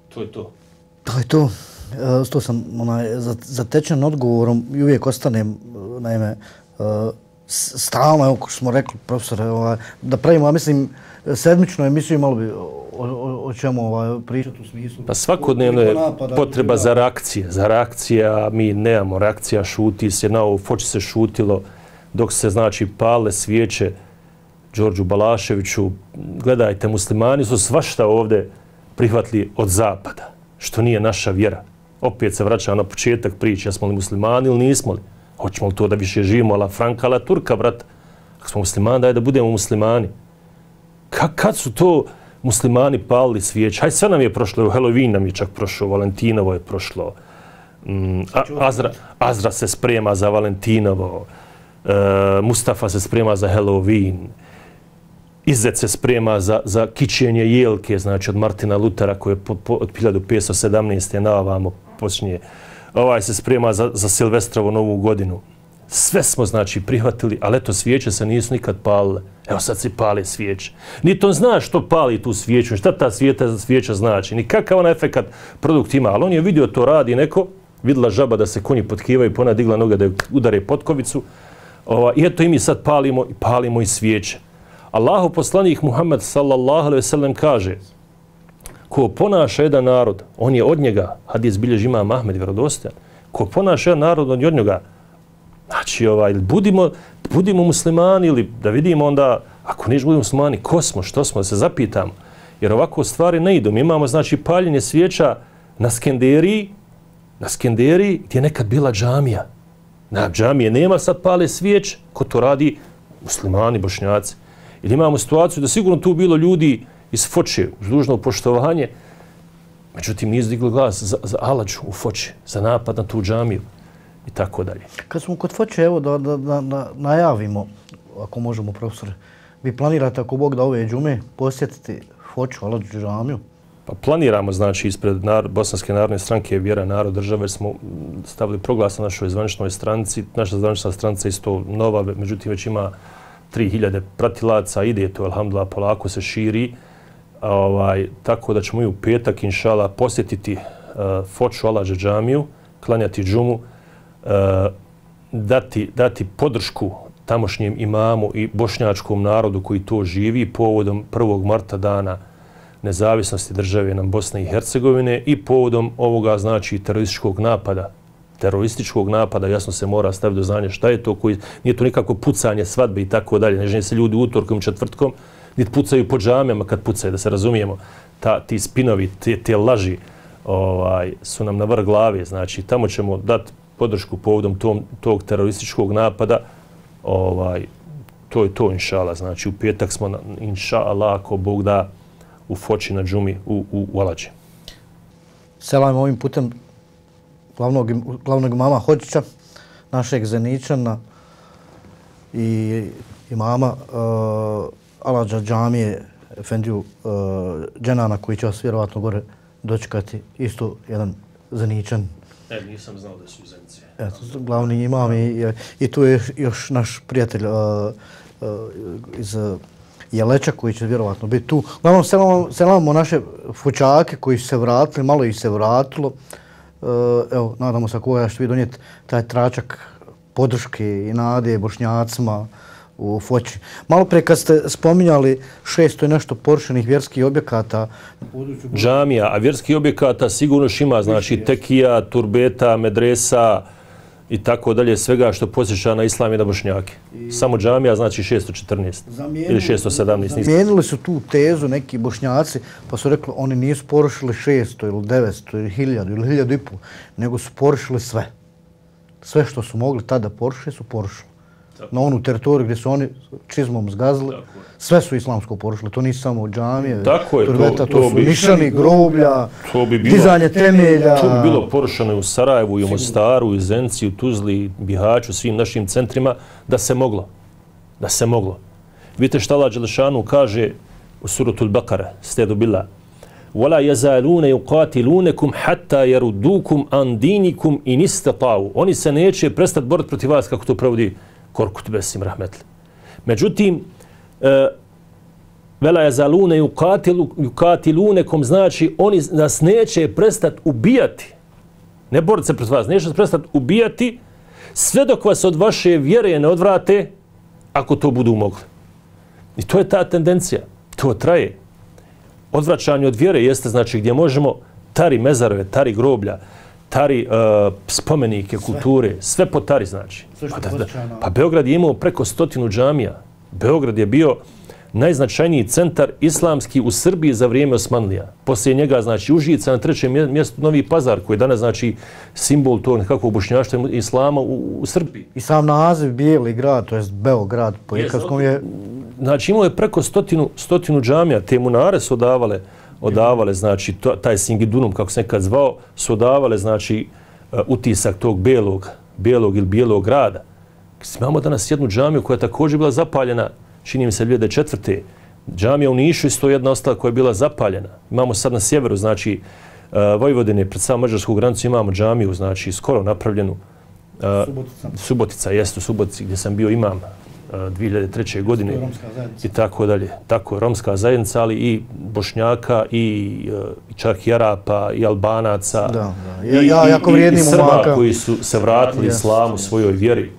To je to. To je to. E, to sam onaj, zatečen odgovorom i uvijek ostanem, naime, e, stalno, evo ko smo rekli, profesore, ovaj, da pravimo, a mislim, sedmičnu emisiju, malo bi o, o, o čemu ovaj, pričati u smislu. Pa svakodnevno je potreba za reakcije. Za reakcija, mi nemamo reakcija, šuti se, na ovo Foči se šutilo, dok se, znači, pale svijeće Đorđu Balaševiću. Gledajte, muslimani su svašta ovdje prihvatili od zapada, što nije naša vjera. Opet se vraća na početak priče, jesmo li muslimani ili nismo li? Hoćemo li to da više živimo ala Franka, ala Turka, brat? Ako smo muslimani, daj da budemo muslimani. Ka, kad su to muslimani palili svijeće? Hajde, sve nam je prošlo, Halloween nam je čak prošlo, Valentinovo je prošlo, mm, Azra, Azra se sprema za Valentinovo, uh, Mustafa se sprema za Halloween, Izet se sprema za, za kićenje jelke, znači od Martina Lutera koje po, po, od hiljadu petsto sedamnaeste na ovamo počinje. Ovaj se sprema za, za Silvestrovu novu godinu. Sve smo, znači, prihvatili, ali eto, svijeće se nisu nikad palile. Evo sad se pale svijeće. Niti on zna što pali tu svijeću, šta ta svijeta, svijeća znači, ni kakav ona efekat produkt ima, ali on je vidio to radi neko, vidjela žaba da se konji potkivaju, pona digla noga da udare potkovicu. Ova, I eto i mi sad palimo, palimo i svijeće. Allahu poslanik Muhammed sallallahu alejhi ve sellem kaže: ko ponaša jedan narod, on je od njega, hadis bilježi imam Ahmed vjerodostojan, ko ponaša jedan narod, on je od njega. Znači, ovaj, budimo, budimo muslimani ili da vidimo onda, ako niš budemo muslimani, ko smo, što smo, da se zapitamo. Jer ovako stvari ne idu. Mi imamo, znači, paljenje svijeća na Skenderiji, na Skenderiji gdje je nekad bila džamija. Na džamije nema sad pale svijeće, ko to radi? Muslimani, Bošnjaci. Ili imamo situaciju da sigurno tu bilo ljudi iz Foče, uz dužno poštovanje, međutim nisu digli glas za, za Aladžu u Foči, za napad na tu džamiju i tako dalje. Kad smo kod Foče, evo da, da, da, da najavimo, ako možemo, profesore, vi planirate, ako Bog da ove džume, posjetiti Foču, Aladžu džamiju? Pa planiramo, znači, ispred narod, Bosanske narodne stranke Vjera, narod, države, smo stavili proglas na našoj zvaničnoj stranici. Naša zvanična stranica je isto nova, međutim već ima tri hiljade pratilaca, ide to, alhamdulillah, polako se širi. Ovaj, tako da ćemo i u petak, inšala, posjetiti uh, Foču Aladže džamiju, klanjati džumu, uh, dati, dati podršku tamošnjem imamu i bošnjačkom narodu koji to živi povodom prvog marta dana nezavisnosti države nam Bosne i Hercegovine i povodom ovoga, znači, terorističkog napada. terorističkog napada, jasno se mora staviti do znanja šta je to, koji nije to nikako pucanje, svadbe i tako dalje. Ne žene se ljudi utorkom, četvrtkom, niti pucaju po džamijama kad pucaju, da se razumijemo. Ta, ti spinovi, te, te laži ovaj, su nam na vrh glave. Znači, tamo ćemo dati podršku povodom tom, tog terorističkog napada. Ovaj, to je to, inšala. Znači, u petak smo, na, inšala, ako Bog da, u Foči na džumi, u, u, u Aladži. Selam ovim putem glavnog, glavnog imama Hodžića, našeg Zeničana i imama uh, Aladža džamije Efendiju uh, Dženana, koji će vas vjerovatno gore dočekati, isto jedan Zeničan. E, nisam znao da su Zenice. Eto, glavni imam i, i tu je još naš prijatelj uh, uh, iz uh, Jeleča koji će vjerovatno biti tu. Uglavnom, selamamo, selamamo naše fučake koji su se vratili, malo ih se vratilo. Uh, evo, nadamo se koja što vi donijeti taj tračak podrške i nade Bošnjacima u Foči. Malo prije kad ste spominjali šesto i nešto porušenih vjerskih objekata. Džamija, a vjerskih objekata sigurno ima, znači tekija, turbeta, medresa, i tako dalje, svega što posjeća na islam i na bošnjake. I... Samo džamija znači šesto četrnaest zamijenili, ili šesto sedamnaest. Zamijenili su tu tezu neki bošnjaci, pa su rekli oni nisu porušili šesto ili devetsto ili hiljadu ili hiljadu i pol, nego su porušili sve. Sve što su mogli tada porušiti su porušili. Tako. Na onu teritoriju gdje su oni čizmom zgazili, tako. Sve su islamsko porušili. To nisu samo džamije, tako je, turveta, to, to, to su bi, nišani, groblja, to bi bilo, dizanje temelja. To bi bilo porušeno i u Sarajevu, i u Mostaru, i u Zenci, u Tuzli, Bihaću, svim našim centrima, da se moglo. Da se moglo. Vidite šta Allah Đelešanu kaže u suratul Bakara, stedu billah. وَلَا يَزَالُونَ يُقَاتِلُونَكُمْ حَتَّى يَرُدُّوكُمْ عَنْ دِينِكُمْ إِنِ اسْتَطَاعُوا. Oni se neće prestati boriti protiv vas, kako to provodi Korkut Besim Rahmetli. Međutim, وَلَا يَزَالُونَ يُقَاتِلُونَكُمْ znači oni nas neće prestati ubijati. Ne boriti se protiv vas, neće prestati ubijati sve dok vas od vaše vjere ne odvrate, ako to budu mogli. I to je ta tendencija. To traje. Odvraćanje od vjere jeste znači gdje možemo tari mezarove, tari groblja, tari uh, spomenike, kulture, sve, sve po tari znači. Pa, da, da, pa Beograd je imao preko stotinu džamija. Beograd je bio najznačajniji centar islamski u Srbiji za vrijeme Osmanlija. Poslije njega znači Užica, na trećem mjestu Novi Pazar, koji je danas znači simbol tog nekakvog bošnjaštva islama u, u Srbiji. I sam naziv Bijeli grad, to jest Beograd, po ikavskom je... Znači imao je preko stotinu, stotinu džamija, te munare su odavale, odavale znači to, taj Singidunum, kako se nekad zvao, su odavale znači uh, utisak tog belog, belog ili bijelog grada. Imamo danas jednu džamiju koja je također bila zapaljena, čini mi se dvije hiljade četvrte. Džamija u Nišu isto jedna ostala koja je bila zapaljena. Imamo sad na sjeveru, znači uh, Vojvodine, pred samom mađarsku granicu imamo džamiju, znači skoro napravljenu. Uh, Subotica. Subotica, jest u Subotici gdje sam bio imam dvije hiljade treće. godine i tako dalje. Tako je, romska zajednica, ali i Bošnjaka, i čak i Arapa, i Albanaca, da, da. Ja, ja, jako i, i Srba momaka. Koji su se vratili yes. islamu, svojoj vjeri.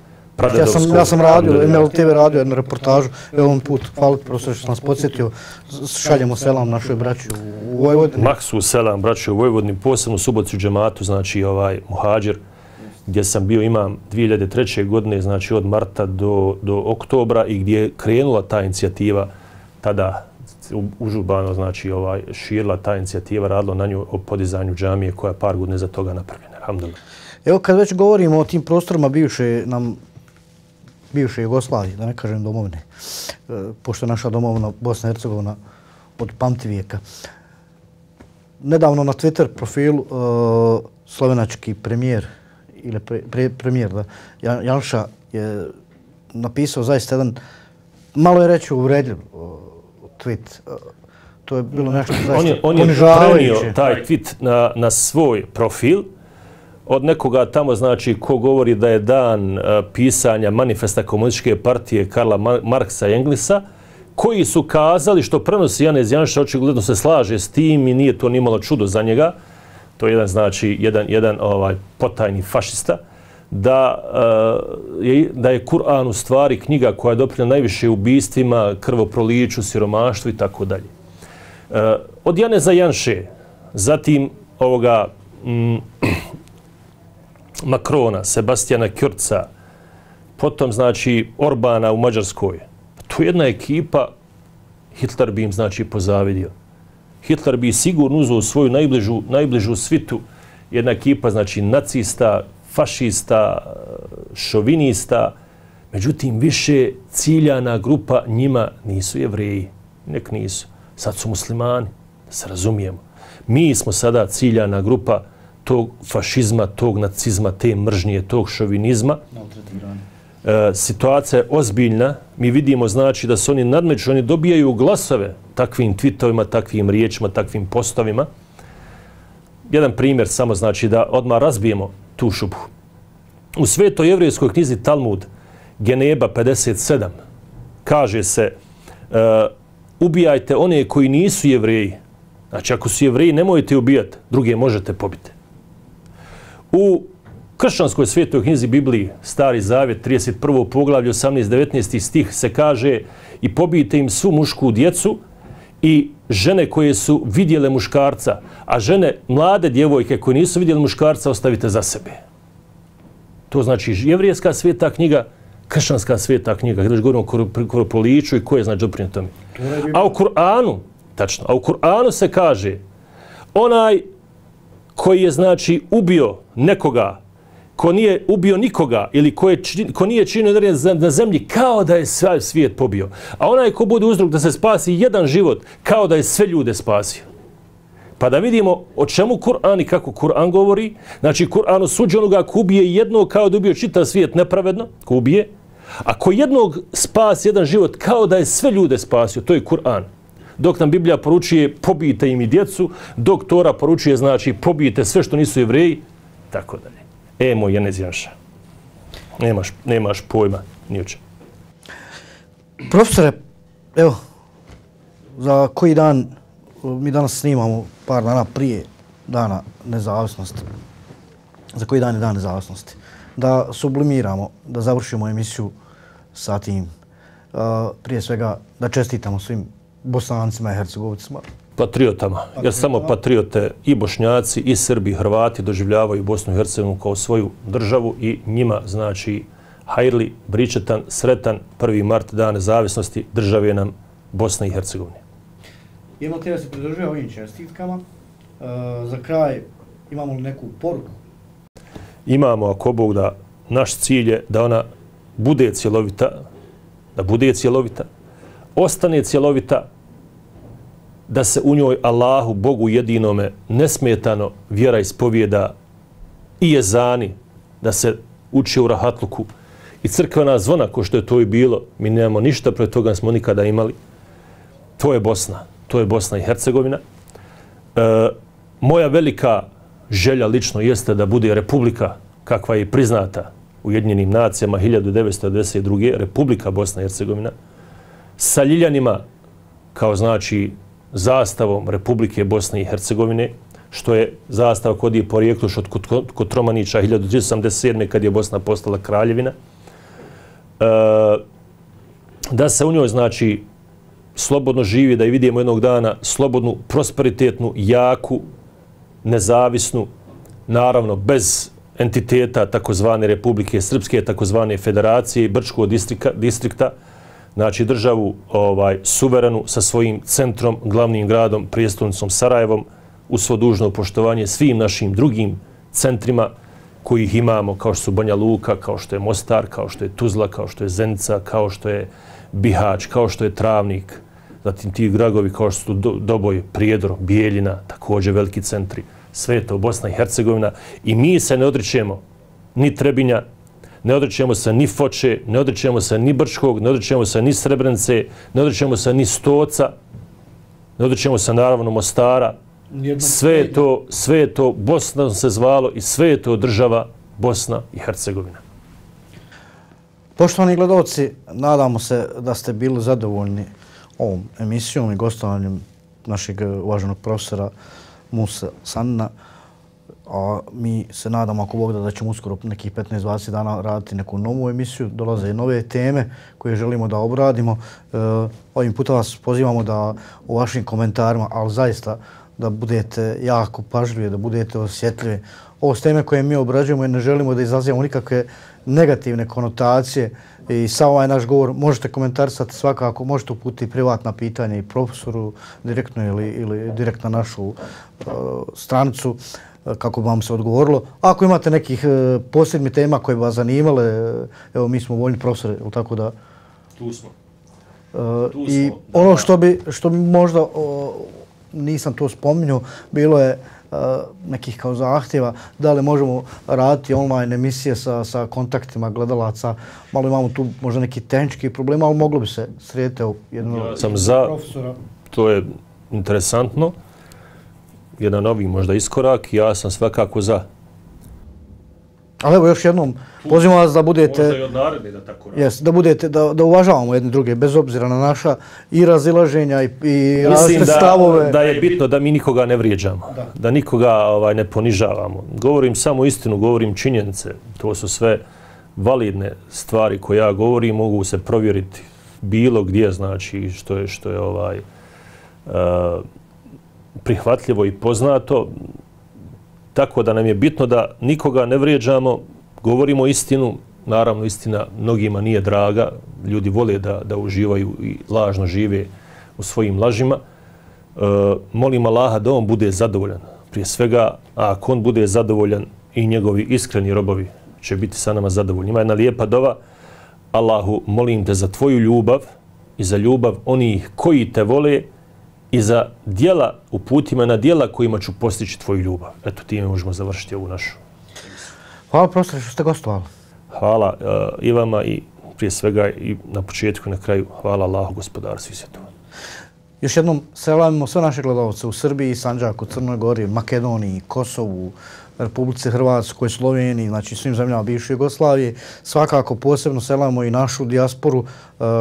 Ja sam, ja sam radio, M L T V radio jednu reportažu, ovom put, hvala profesor što sam nas podsjetio, šaljemo selam našoj braći u Vojvodini. Maksu selam braći u Vojvodini, posebno u Subotici u džematu, znači ovaj muhađir, gdje sam bio imam dvije hiljade treće. godine, znači od marta do, do oktobra, i gdje je krenula ta inicijativa, tada užurbano, znači ovaj, širila ta inicijativa, radilo na nju o podizanju džamije koja je par godina za toga napravljena. Alhamdulillah. Evo kad već govorimo o tim prostorima bivše nam bivše Jugoslavije, da ne kažem domovine, pošto je naša domovina Bosna i Hercegovina od pamtivijeka. Nedavno na Twitter profilu uh, slovenački premijer ili pre, pre, premijer da, Janša je napisao zaista jedan, malo je reći uvredljiv uh, tweet. Uh, to je bilo nešto zaista on je, on je prenio taj tweet na, na svoj profil od nekoga tamo, znači, ko govori da je dan uh, pisanja manifesta komunističke partije Karla Marksa i Englesa, koji su kazali, što prenosi Janez Janša, očigledno se slaže s tim i nije to nimalo čudo za njega, to je jedan, znači, jedan, jedan ovaj, potajni fašista, da, uh, je, da je Kur'an u stvari knjiga koja je doprinjena najviše ubistvima, krvoproliću, siromaštvu i tako dalje. Od Janeza Janše, zatim ovoga mm, Makrona, Sebastijana Kjurca, potom, znači, Orbana u Mađarskoj. To je jedna ekipa, Hitler bi im, znači, pozavidio. Hitler bi sigurno uzeo svoju najbližu, najbližu svitu, jedna ekipa, znači, nacista, fašista, šovinista, međutim, više ciljana grupa njima nisu Jevreji, nek nisu. Sad su muslimani, da se razumijemo. Mi smo sada ciljana grupa tog fašizma, tog nacizma, te mržnje, tog šovinizma. E, situacija je ozbiljna. Mi vidimo, znači, da se oni nadmeću, oni dobijaju glasove takvim tweetovima, takvim riječima, takvim postovima. Jedan primjer samo, znači, da odmah razbijemo tu šubhu. U svetoj jevrejskoj knjizi Talmud, Geneba pedeset sedam, kaže se e, ubijajte one koji nisu Jevreji. Znači, ako su Jevreji, nemojte ubijati, druge možete pobiti. U kršćanskoj svetoj knjizi Bibliji, Stari Zavjet, trideset prvo poglavlje, osamnaesti devetnaesti stih, se kaže i pobijte im svu mušku djecu i žene koje su vidjele muškarca, a žene, mlade djevojke koje nisu vidjele muškarca, ostavite za sebe. To znači jevrijska sveta knjiga, kršćanska sveta knjiga. Kada govorimo o krvoproliću i ko je znači doprinio tome. A u Kur'anu, tačno, a u Kur'anu se kaže onaj koji je znači ubio nekoga, ko nije ubio nikoga ili ko, je, ko nije činio na zemlji, kao da je sve svijet pobio. A onaj ko bude uzrok da se spasi jedan život, kao da je sve ljude spasio. Pa da vidimo o čemu Kur'an i kako Kur'an govori. Znači, Kur'an osuđuje onoga ko ubije jednog kao da ubio čitav svijet nepravedno, ko ubije. A ko jednog spasi jedan život, kao da je sve ljude spasio. To je Kur'an. Dok nam Biblija poručuje pobijte im i djecu, dok Tora poručuje znači pobijte sve što nisu Jevreji, tako dalje. E, moj Janez Janša, nemaš, nemaš pojma ni o čemu. Profesore, evo, za koji dan, mi danas snimamo par dana prije dana nezavisnosti. Za koji dan je dan nezavisnosti? Da sublimiramo, da završimo emisiju sa tim. Uh, prije svega da čestitamo svim Bosancima i Hercegovicima. Patriotama, jer samo patriote i Bošnjaci, i Srbi, i Hrvati doživljavaju Bosnu i Hercegovinu kao svoju državu i njima znači hajrli, bričetan, sretan prvi mart dan nezavisnosti države nam Bosne i Hercegovine. Imamo te da se pridružuje ovim čestitkama. Uh, za kraj imamo li neku poruku? Imamo, ako Bog da, naš cilj je da ona bude cjelovita, da bude cjelovita, ostane cjelovita, da se u njoj Allahu, Bogu jedinome, nesmetano vjera ispovijeda i jezani, da se uči u rahatluku i crkvena zvona, ko što je to i bilo, mi nemamo ništa protiv toga, smo nikada imali. To je Bosna, to je Bosna i Hercegovina. E, moja velika želja lično jeste da bude republika kakva je priznata Ujedinjenim nacijama hiljadu devetsto devedeset druge. Republika Bosna i Hercegovina sa ljiljanima kao znači zastavom Republike Bosne i Hercegovine, što je zastava kod je porijeklo još od kod Romanića hiljadu tristo osamdeset sedme kad je Bosna postala kraljevina. E, da se u njoj znači slobodno živi, da je vidimo jednog dana slobodnu, prosperitetnu, jaku, nezavisnu, naravno bez entiteta takozvane Republike Srpske, takozvane Federacije i Brčkog distrikta, distrikta, znači državu ovaj, suverenu sa svojim centrom, glavnim gradom, prijestolnicom Sarajevom, u svo dužno poštovanje svim našim drugim centrima kojih imamo, kao što su Banja Luka, kao što je Mostar, kao što je Tuzla, kao što je Zenica, kao što je Bihać, kao što je Travnik, zatim ti gradovi kao što su Doboj, Prijedor, Bijeljina, također veliki centri, sve je to Bosna i Hercegovina i mi se ne odričemo ni Trebinja, ne odričemo se ni Foče, ne odričemo se ni Brčkog, ne odričemo se ni Srebrenice, ne odričemo se ni Stoca, ne odričemo se naravno Mostara. Sve je to, sve je to Bosna se zvalo i sve je to država Bosna i Hercegovina. Poštovani gledalci, nadamo se da ste bili zadovoljni ovom emisijom i gostovanjem našeg uvaženog profesora Musa Sanina. A mi se nadamo, ako Bog da, da ćemo uskoro nekih petnaest do dvadeset dana raditi neku novu emisiju. Dolaze nove teme koje želimo da obradimo. E, ovim puta vas pozivamo da u vašim komentarima, ali zaista da budete jako pažljivi, da budete osjetljivi. Ovo s teme koje mi obrađujemo i ne želimo da izazivamo nikakve negativne konotacije. I sa ovaj naš govor možete komentarisati svakako, možete uputiti privatna pitanja i profesoru direktno ili, ili direkt na našu uh, stranicu kako bi vam se odgovorilo. Ako imate nekih uh, posebnih tema koje bi vas zanimale, evo mi smo voljni profesori, tako da... Tu smo. Uh, tu I smo, ono što bi, što bi možda, uh, nisam to spominjao, bilo je uh, nekih kao zahtjeva, da li možemo raditi online emisije sa, sa kontaktima gledalaca. Malo imamo tu možda neki tehnički problema, ali moglo bi se srediti jednog ja sam za, profesora. To je interesantno. Jedan novi možda iskorak, ja sam svakako za. Ali evo još jednom, pozivam vas da budete... Možda i od naredbe da tako radi. Yes, da budete, da, da uvažavamo jedni druge, bez obzira na naša i razilaženja i, i različite stavove. Mislim da je bitno da mi nikoga ne vrijeđamo, da, da nikoga ovaj, ne ponižavamo. Govorim samo istinu, govorim činjenice. To su sve validne stvari koje ja govorim, mogu se provjeriti bilo gdje, znači što je, što je ovaj, uh, prihvatljivo i poznato. Tako da nam je bitno da nikoga ne vrijeđamo, govorimo istinu, naravno istina mnogima nije draga, ljudi vole da, da uživaju i lažno žive u svojim lažima. E, molim Allaha da on bude zadovoljan. Prije svega, a ako on bude zadovoljan i njegovi iskreni robovi će biti sa nama zadovoljni. Ima jedna lijepa dova, Allahu, molim te za tvoju ljubav i za ljubav onih koji te vole i za dijela, uputima na dijela kojima ću postići tvoju ljubav. Eto, time možemo završiti ovu našu. Hvala profesore što ste gostovali. Hvala uh, i vama i prije svega i na početku i na kraju hvala Allahu, gospodaru svih svjetova. Još jednom selamimo sve naše gledalce u Srbiji, Sandžaku, Crnoj Gori, Makedoniji, Kosovu, Republici Hrvatskoj, Sloveniji, znači svim zemljama bivše Jugoslavije. Svakako posebno selamimo i našu dijasporu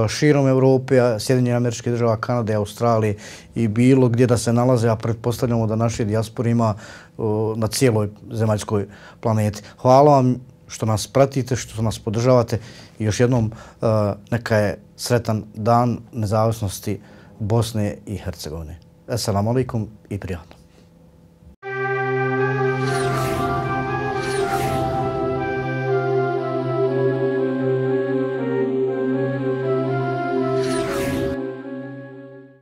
širom Evrope, Sjedinjenih Američkih Država, Kanade, Australije i bilo gdje da se nalaze, a pretpostavljamo da naše dijaspore ima na cijeloj zemaljskoj planeti. Hvala vam što nas pratite, što nas podržavate i još jednom neka je sretan dan nezavisnosti Bosne i Hercegovine. Assalamu alaikum i prijatno.